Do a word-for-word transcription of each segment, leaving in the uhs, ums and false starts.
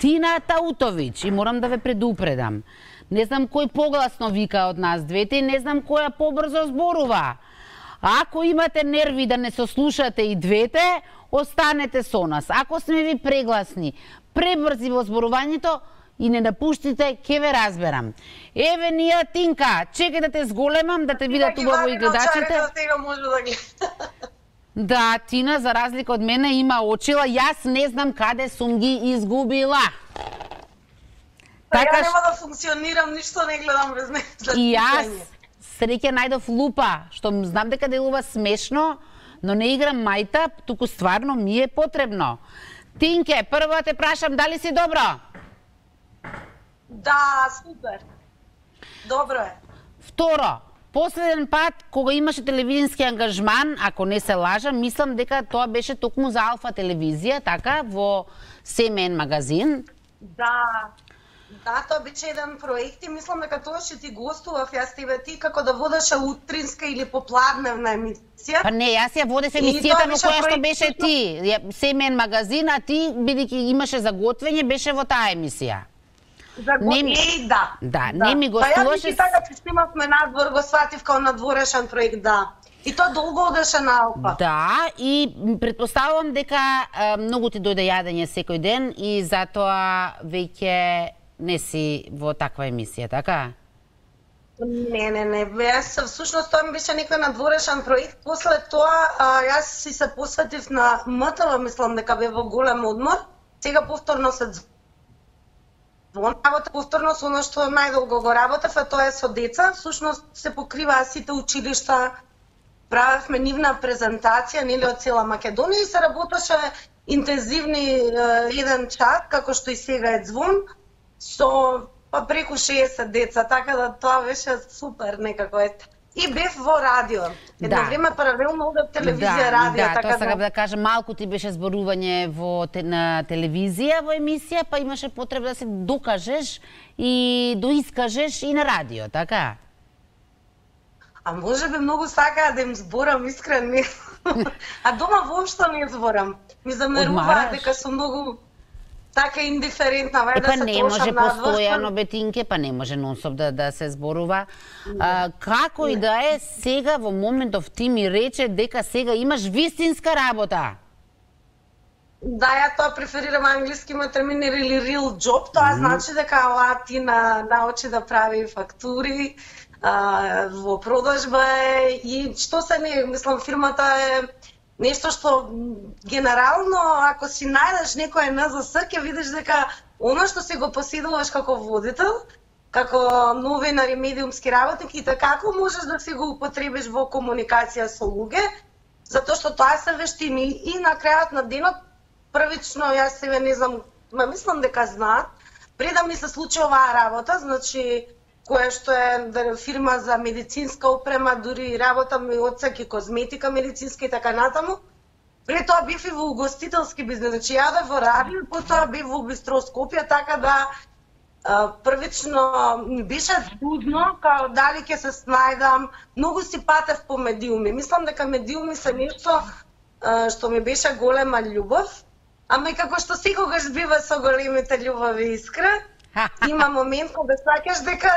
Тина Таутович, и морам да ве предупредам. Не знам кој погласно вика од нас двете, не знам која побрзо зборува. Ако имате нерви да не сослушате и двете, останете со нас. Ако сме ви прегласни, пребрзи во зборувањето и не напуштите, ке ве разберам. Еве ние, Тинка, чекај да те зголемам, да те видат убаво и гледачите. Да, Тина, за разлика од мене, има очила. Јас не знам каде сум ги изгубила. Па така, ја нема да функционирам, ништо не гледам без неја. И јас среќа најдов лупа, што знам дека делува смешно, но не играм мајта, туку стварно ми е потребно. Тинке, прво те прашам, дали си добро? Да, супер. Добро е. Второ, последен пат, кога имаше телевизиски ангажман, ако не се лажам, мислам дека тоа беше токму за Алфа телевизија, така, во Семен магазин. Да, да, тоа беше еден проект и мислам дека тоа ќе ти гостував јас тебе ти како да водеше утринска или попладневна емисија. Па не, јас ја водев емисијата во која што беше ти, Семен магазин, а ти, бидејќи имаше заготвење, беше во таа емисија. За не ми... Еј, да. Да, да, не ми гостуваше... Па ја така че снимавме надвор, го сватив као надворешен проект, да. И тоа долго одеше на Алфа. Да, и предпоставувам дека а, многу ти дојде јадење секој ден и затоа веќе не си во таква емисија, така? Не, не, не. Јас всушност тоа ми беше некој надворешен проект. После тоа а, јас си се посветив на МТВ, мислам дека бе во голем одмор. Сега повторно се работа повторно со она што најдолго го работев, а тоа е со деца. Всушност се покриваа сите училишта, правевме нивна презентација, нели, од цела Македонија и се работеше интензивни еден час, како што и сега е Звон, со па преку шеесет деца, така да тоа беше супер некако ете. И бев во радио. Едно да. време паралелно одев телевизија, да, радио, да, така тоа сакам да кажам, малку ти беше зборување во те, на телевизија во емисија, па имаше потреба да се докажеш и доискажеш и на радио, така? А може би многу сакаа да им зборам искрено. А дома воопшто не зборам. Ми замеруваат дека сум многу така индиферентна, вај да па се не може постојано, Бетинке, па не може нонстоп да, да се зборува. А, како не. И да е, сега во моментов ти ми рече дека сега имаш вистинска работа. Да, ја тоа преферирам англискиме термини или real job, тоа mm. значи дека ова ти на, научи да прави фактури, а, во продажба е и што се не, мислам, фирмата е нешто што генерално, ако си најдеш некој ен зе ес, ќе видиш дека оно што си го поседуваш како водител, како новинар и медиумски работник, и така како можеш да си го употребиш во комуникација со луѓе, затоа што тоа се вештини и на крајот на денот, првично јас себе не знам, ма мислам дека знаат, пред да ми се случи оваа работа, значи која што е фирма за медицинска опрема, дури работам и одсек и козметика медицинска и така натаму. Пред тоа бев и во угостителски бизнес, значи јадев во радио, потоа бев во бистроскопија, така да а, првично ми беше трудно, као дали ќе се снајдам, многу си патев по медиуми. Мислам дека медиуми се нешто а, што ми беше голема љубов, ама и како што секогаш бива со големите љубови искра, има момент кога сакаш дека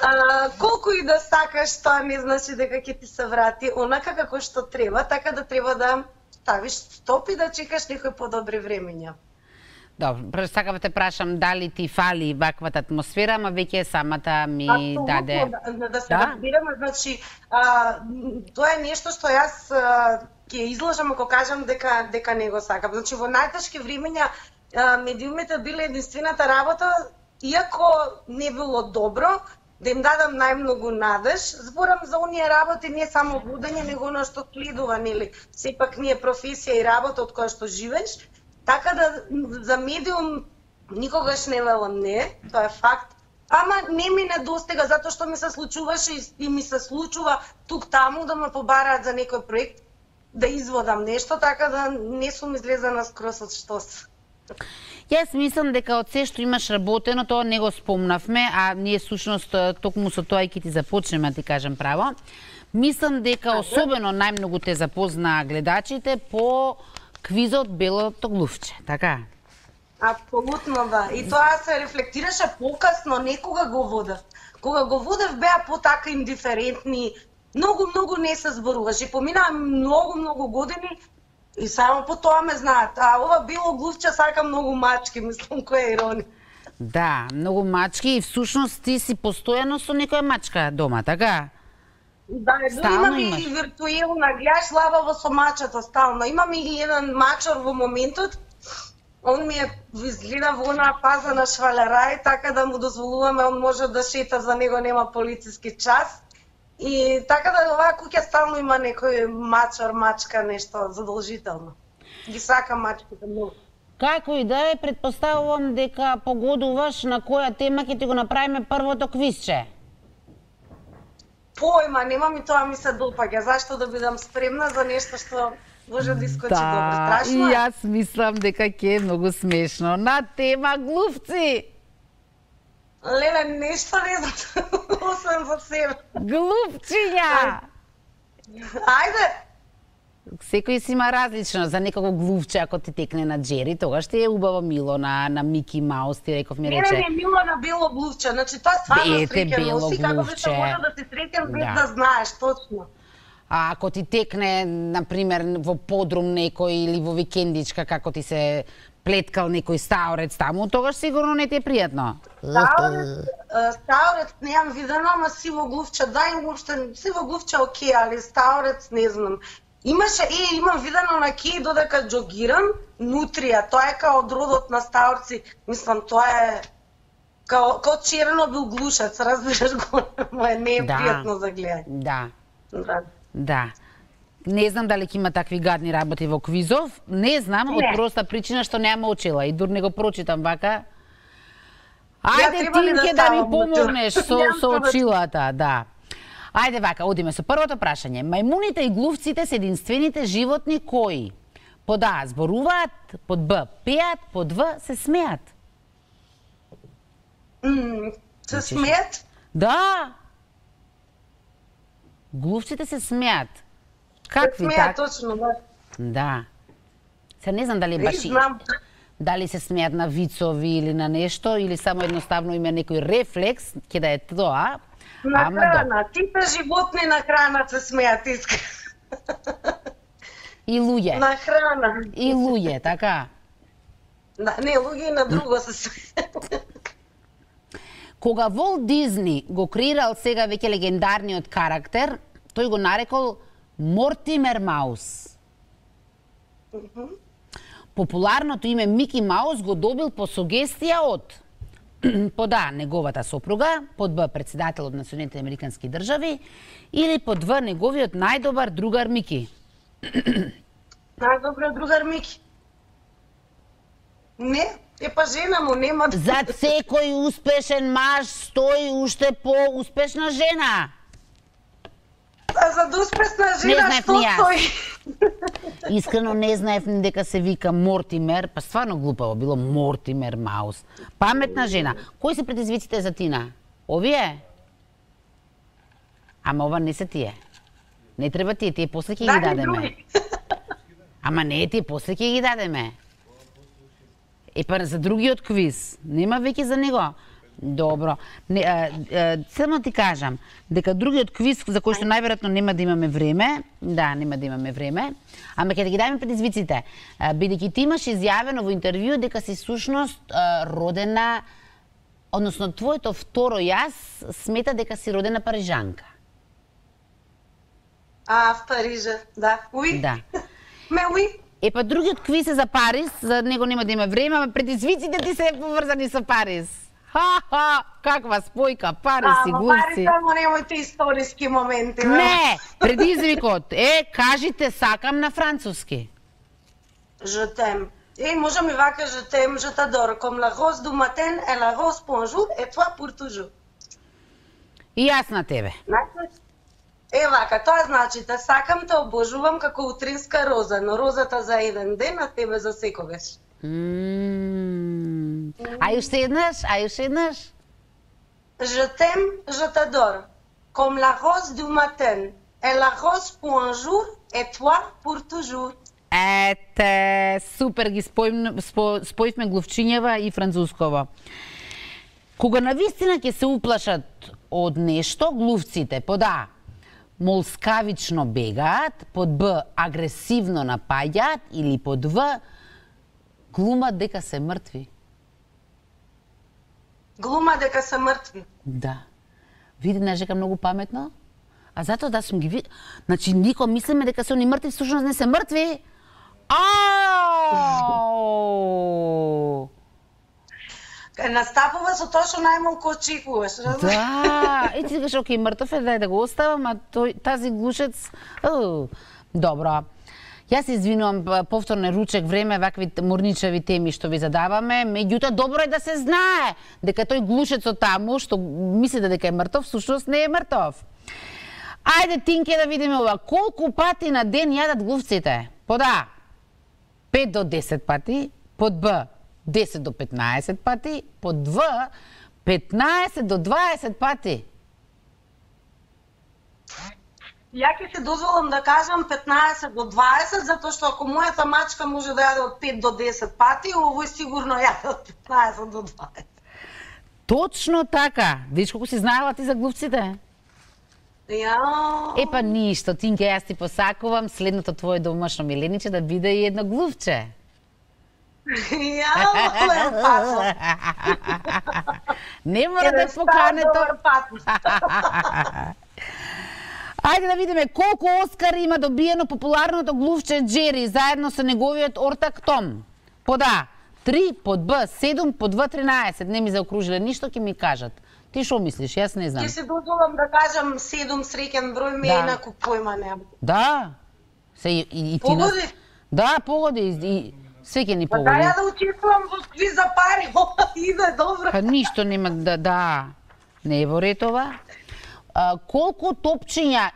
а, колку и да сакаш, тоа не значи дека ќе ти се врати онака како што треба, така да треба да ставиш стоп и да чекаш некои подобри времења. Добро, сакам те прашам дали ти фали ваквата атмосфера, ама веќе самата ми Абсолютно, даде... Да, да се да? разбираме, значи, а, тоа е нешто што јас а, ќе излажам ако кажам дека дека не го сакам. Значи, во најтешки времења а, медиумите биле единствената работа, иако не било добро, да им дадам најмногу надеж, зборам за оние работи не само водење, него оно што следува, нели, сепак не е професија и работа од која што живееш, така да за медиум никогаш не велам не, тоа е факт, ама не ми недостига, затоа што ми се случуваше и, и ми се случува тук-таму да ме побараат за некој проект, да изводам нешто, така да не сум излезена скрос од штос. Јас мислам дека од се што имаш работено, тоа не го спомнавме, а ние сушност токму со тоа и ќе ти започнеме, ти кажам право. Мислам дека особено најмногу те запозна гледачите по квизот Белото глувче, така? Апсолутно да. И тоа се рефлектираше покасно, некога го водев. Кога го водев беа потака индиферентни, многу, многу не се зборуваше. Поминаа многу, многу години и само по тоа ме знаат. А ова било глувче сака многу мачки, мислам, која е иронија. Да, многу мачки и всушност ти си постојано со некоја мачка дома, така? Да, имам и виртуелна, гледаш лабаво со мачето стално. Имам и еден мачор во моментот. Он ми е изгледа во онаа фаза на швалерај, така да му дозволуваме, он може да шета, за него нема полициски час. И така да оваа куќа стално има некој мачор, мачка, нешто задолжително. Ги сакам мачките многу. Како и да е, предпоставувам дека погодуваш на која тема ќе ти го направиме првото квизче. Појма, нема ми тоа ми се допаѓа. Зашто да бидам спремна за нешто што може да искочи да, добро. Страшно е. И јас мислам дека ќе е многу смешно. На тема глувци. Леле, нешто не знам, освен за себе. Глувчиња. Ајде. Секој си има различно. За некако глувче, ако ти текне на Джери, тогаш ти е убаво мило на, на Мики Маус, ти реков ми рече. Не, не, мило на бело глувче. Значи, тоа стварно Ете, бело носи, како би се глувче. може да се среќам без Да. да знаеш, точно. А ако ти текне, например, во подрум некој или во викендичка, како ти се плеткал некој стаорец таму, тогаш сигурно не ти е пријатно. Стаорец, е, стаорец немам видено, ама сиво глувче, да, и уопште сиво глувче окей, али стаорец не знам. Имаше, е, имам видено на ки додека џогирам, нутрија, тоа е као од родот на стаорци, мислам, тоа е као, као Чернобил глушец, разбираш го, не е Да. пријатно за гледање. Да, Да. да. Не знам дали ќе има такви гадни работи во квизов. Не знам, од Не. проста причина што немам очила и дур не го прочитам вака. Ја Ајде, треба ли да Тинке, да ми ставам помогнеш со, Немам со повеќе. очилата, да. Ајде вака, одиме со првото прашање. Мајмуните и глувците се единствените животни кои под А зборуваат, под Б пеат, под В се смеат. М, Се смеат? Да. Глувците се смеат. Какви Смеат, так? точно, да. Да. Се не знам дали е Не баш и- знам. дали се смеат на вицови или на нешто, или само едноставно има некој рефлекс, ќе да е тоа. На Ама храна, типе животни на храна се смеат, искрено. И луѓе. На храна. И луѓе, така. Да, не, луѓе и на друго се смеат. Кога Волт Дизни го креирал сега веќе легендарниот карактер, тој го нарекол Мортимер Маус. Популарното име Мики Маус го добил по сугестија од под А неговата сопруга, под Б председател од Националните американски држави или под В неговиот најдобар другар Мики. Најдобро другар Мики. Не, е па жена му нема. Зад секој успешен маж стои уште по-успешна жена. А за да успешна Не жена, знаев што ни јас. тој? Искрено не знаев ни дека се вика Мортимер, па стварно глупаво било Мортимер Маус. Паметна жена. Кои се предизвиците за Тина? Овие? Ама ова не се тие. Не треба тие, тие после ќе ги Дај ми дадеме. други. Ама не, тие после ќе ги дадеме. Е, па за другиот квиз. Нема веќе за него. Добро. Не, а, а, само ти кажам, дека другиот квиз за кој што најверојатно нема да имаме време, да, нема да имаме време, ама ќе да ги дадеме предизвиците. А, бидејќи ти имаш изјавено во интервју дека си сушност а, родена, односно твоето второ јас смета дека си родена парижанка. А, в Парижа, да. Уи? Да. Ме уи? Е, па другиот квиз е за Париз, за него нема да има време, ама предизвиците ти се поврзани со Париз. Ха-ха, каква спојка, Париз и Ама глувци. Париж само немојте историски моменти. бе. Не, предизвикот е, кажите сакам на француски. Je t'aime. Е, можам и вака, je t'aime, je t'adore, comme la rose du matin et la rose pour un jour et toi pour toujours. И јас на тебе. Значи, е вака, тоа значи те сакам, те обожувам како утринска роза, но розата за еден ден, а тебе за секогаш. Мм. А уште еднаш, а уште еднаш. Je t'aime, je t'adore, comme la rose du matin et la rose pour un jour et toi pour toujours. Ете, супер ги спојм, спо, спојвме глувчињева и францускова. Кога навистина ќе се уплашат од нешто, глувците под А молскавично бегаат, под Б агресивно напаѓаат или под В глумат дека се мртви. Глума дека се мртви. Да. Види, не дека многу паметно. А затоа да сум ги види... Значи, никој мислиме дека се они мртви, всушност не се мртви. Ау! Настапува со тоа што најмалку очекуваш, разбираш? Да, и ти кажеш, окей, мртов е, дај да го оставам, а тој, тази глушец... Ау. Добро. Јас се извинувам, повторно ручек време, вакви морничави теми што ви задаваме, меѓутоа добро е да се знае дека тој глушецот таму, што мислите дека е мртов, всушност не е мртов. Ајде, Тинке, да видиме ова. Колку пати на ден јадат глувците? Под А, пет до десет пати, под Б, десет до петнаесет пати, под В, петнаесет до дваесет пати. Ја ќе се дозволам да кажам петнаесет до дваесет, затоа што ако мојата мачка може да јаде од пет до десет пати, овој сигурно јаде од петнаесет до дваесет. Точно така. Видиш колку си знаела ти за глувците? Ја... Епа ништо, Тинке, јас ти посакувам следното твое домашно милениче да биде и едно глувче. Ја, леле, пато. Не мора да покане тоа. Ајде да видиме колку Оскари има добиено популарното глувче Джери заедно со неговиот ортак Том. Под А три, под Б седум, под В тринаесет. Не ми заокружиле ништо, ќе ми кажат. Ти што мислиш? Јас не знам. Ќе се дозволам да кажам седум, среќен број, ме Да. инаку појма немам. Да. Се и, и, и ти Погоди? нас... Да, погоди. И, све ќе ни Па да погоди. ја да учествувам во квиз за пари, ова иде добро. Па ништо нема да, да. Не е во ред ова. А, колку топчиња,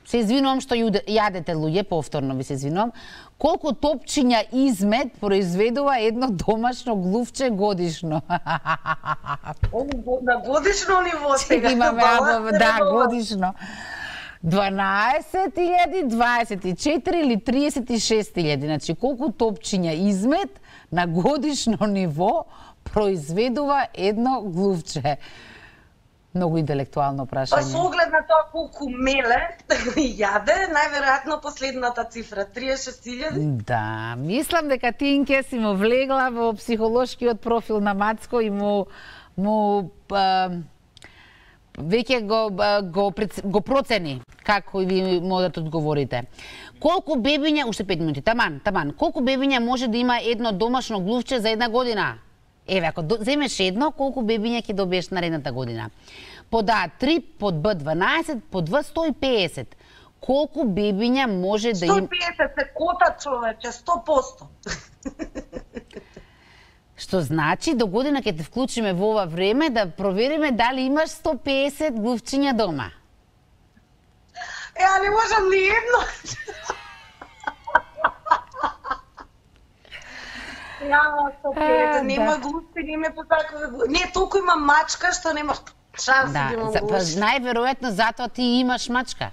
се извинувам што јуде- јадете луѓе, повторно ви се извинувам, колку топчиња измет произведува едно домашно глувче годишно? На годишно ниво сега. Имаме баланс або, е да, редовно. годишно. дванаесет илјади, дваесет и четири или триесет и шест илјади. Значи, колку топчиња измет на годишно ниво произведува едно глувче? Многу интелектуално Па прашање. со оглед на тоа колку меле јаде, најверојатно последната цифра триесет и шест илјади. Да, мислам дека Тинке си му влегла во психолошкиот профил на Мацко и му му а, веќе го го прец- го процени како и ви можете да одговорите. Колку бебиња, уште пет минути, таман, таман. Колку бебиња може да има едно домашно глувче за една година? Еве, ако до, земеш едно, колку бебиња ќе добиеш наредната година? Под А три, под Б дванаесет, под В сто и педесет. Колку бебиња може да сто има... и педесет се кота, човече, сто проценти. Што значи, до година ќе те вклучиме во ова време да провериме дали имаш сто и педесет глувчиња дома. Е, а не можам ни едно. Ја, сто и педесет, А, нема да. глупци, нема по такова. Не, толку има мачка што нема шанси да Да, имам за, па, глупци. најверојатно затоа ти имаш мачка.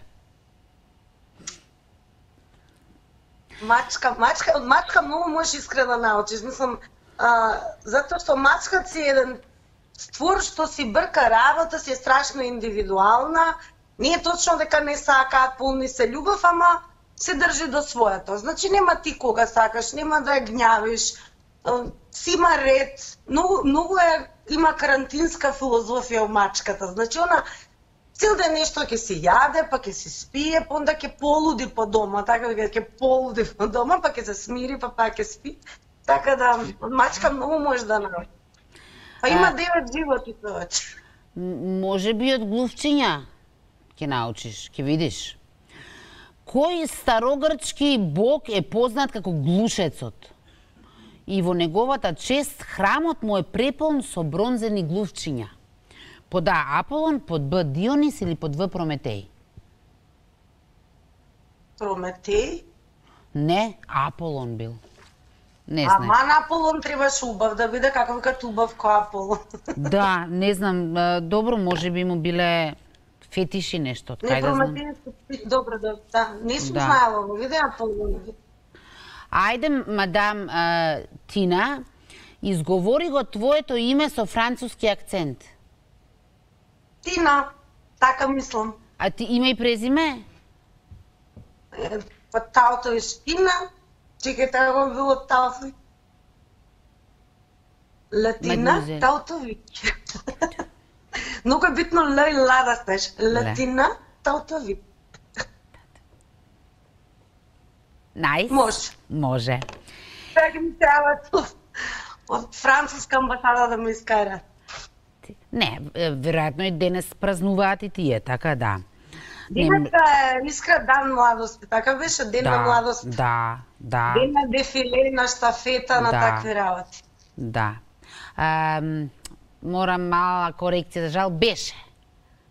Мачка, мачка, од мачка многу можеш искрено да научиш. Мислам, а, затоа што мачката си еден створ што си брка работа, си е страшно индивидуална. Не е точно дека не сакаат, полни се љубов, ама се држи до своето. Значи нема ти кога сакаш, нема да ја гњавиш. а, Си има ред. Многу, многу е, има карантинска филозофија у мачката. Значи она цел ден нешто ќе се јаде, па ќе се спие, па онда ќе полуди по дома, така дека ќе полуди по дома, па ќе се смири, па пак ќе спи. Така да, од мачка многу може да научи. Па има А- девет животи повеќе. М- Може би од глувчиња ќе научиш, ќе видиш. Кој старогрчки бог е познат како глушецот? И во неговата чест храмот му е преполн со бронзени глувчиња. Под А Аполон, под Б Дионис или под В Прометеј? Прометеј. Не, Аполон бил. Не знам. Ама на Аполон требаше убав да биде како викат убав кој Аполон. Да, не знам, а, добро, може би му биле Фетиши нешто, од Не кај да знам. прометенски, добро, да, да. Не сум Да. знаела, во видеа полно. Ајде, мадам а, Тина, изговори го твоето име со француски акцент. Тина, така мислам. А ти име и презиме? Е, Па таото е Тина, чекај, така го било таото. Латина, Мадмузел. Таутовик. Многу е битно Л и Ла да стеш. Латина, Таутовик. Најс? Може. Може. Така ми треба од- од француска амбасада да ме искара. Не, е, веројатно и денес празнуваат и тие, така да. Не, Денеска е Искра дан младости, така беше ден на да, младост. да, да, Ден на дефиле, на штафета, на Да. такви работи. да. Ам, морам мала корекција, за жал, беше.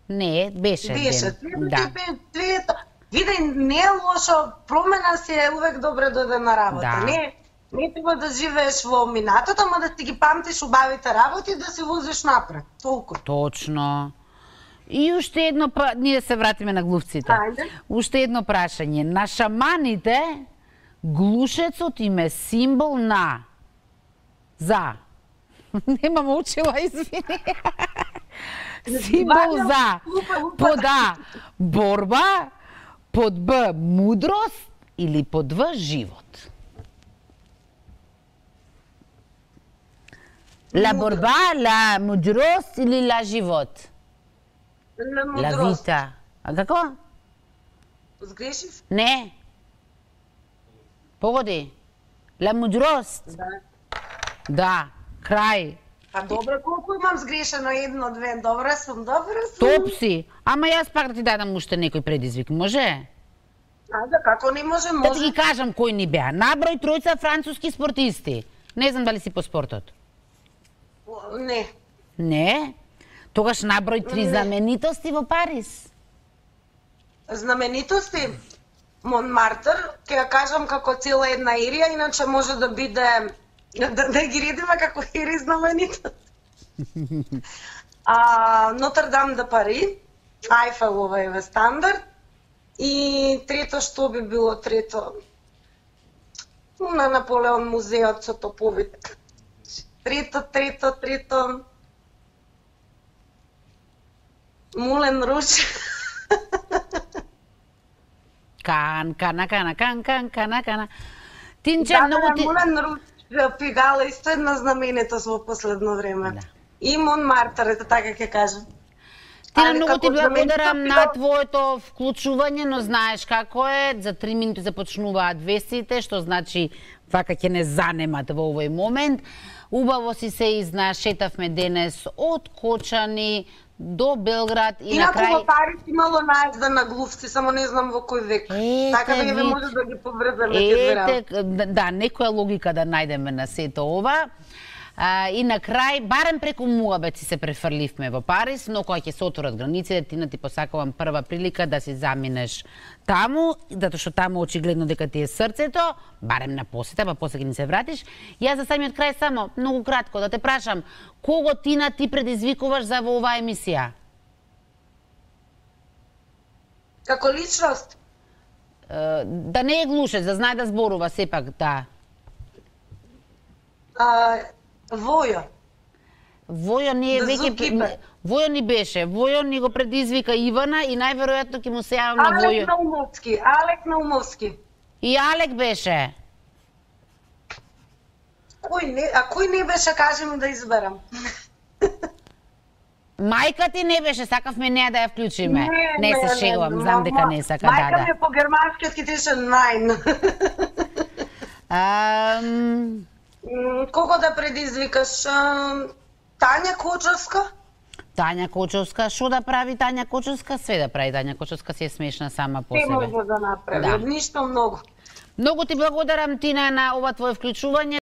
Не, беше, Беше, ден. да. Твието, види, не е лошо, промена си е увек добре дојде на работа. Да. Не, не треба да живееш во минатото, ама да ти ги памтиш убавите работи и да се возиш напред. Толку. Точно. И уште едно, па, ние се вратиме на глувците. Ајде. Уште едно прашање. На шаманите, глушецот им е символ на... За. Немам учила, извини. Символ за. Под А, борба, под Б, мудрост или под В, живот. La борба, la мудрост или la живот? На La мудрост. vita. А како? Сгрешив? Не. Погоди. La мудрост. Да. Да. Крај. Па добре, колку имам сгрешено? Едно, две, добре сум, добре сум. Топ си. Ама јас пак да ти дадам уште некој предизвик, може? Ајде, како не може, Да ти може. ги кажам кои ни беа. Наброј тројца француски спортисти. Не знам дали си по спортот. Не. Не? Тогаш наброј три Не. знаменитости во Париз. Знаменитости? Монмартр, ќе ја кажам како цела една ерија, иначе може да биде да, да ги редиме како ери знаменитост. А, Нотр-Дам де Пари, Ајфелова е стандард и трето што би било трето? На Наполеон музеот со топовите. Трето, трето, трето. Мулен Руж. Кан, кана, кана, кан, кан, кана, кана. Тинче, Да, многу да, ти... Мулен Руж пигала исто една знаменитост во последно време. Да. И Монмартр, ето така ќе кажам. Тина, Али многу ти како благодарам знаменитост на пигала- твоето вклучување, но знаеш како е, за три минути започнуваат вестите, што значи вака ќе не занемат во овој момент. Убаво си се изнашетавме денес од Кочани до Белград и на Инаку во крај... Париз имало наезда на глувци, само не знам во кој век. Ете, Така да еве вид. може да ги поврземе тие две работи. Ете, да, некоја логика да најдеме на сето ова. А, и на крај, барем преку муабет си се префрливме во Париз, но кога ќе се отворат границите, Тина, ти посакувам прва прилика да си заминеш таму, затоа што таму очигледно дека ти е срцето, барем на посета, па после ќе ни се вратиш. Јас за самиот крај само, многу кратко, да те прашам, кого, Тина, ти предизвикуваш за во оваа емисија? Како личност, Е, да не е глушец, да знае да зборува сепак, да. а, Војо. Војо не е The веќе... Zookeeper. Војо ни беше, Војо ни го предизвика Ивана и најверојатно ќе му се јавам на Алек Војо. Наумовски, Алек Наумовски. И Алек беше. Кој не, а кој не беше, кажи ми да изберам. Мајка ти не беше, сакавме неа да ја вклучиме. Не, не, се шегувам, не, знам ма- дека не сака, да, Мајка ми да. е по германски ќе тише најн. Ам, М, Кого да предизвикаш? Ам, Тања Кочовска? Тања Кочовска, што да прави Тања Кочовска? Све да прави Тања Кочовска, си е смешна сама по Те себе. може да направи, Да. од ништо многу. Многу ти благодарам, Тина, на ова твое вклучување.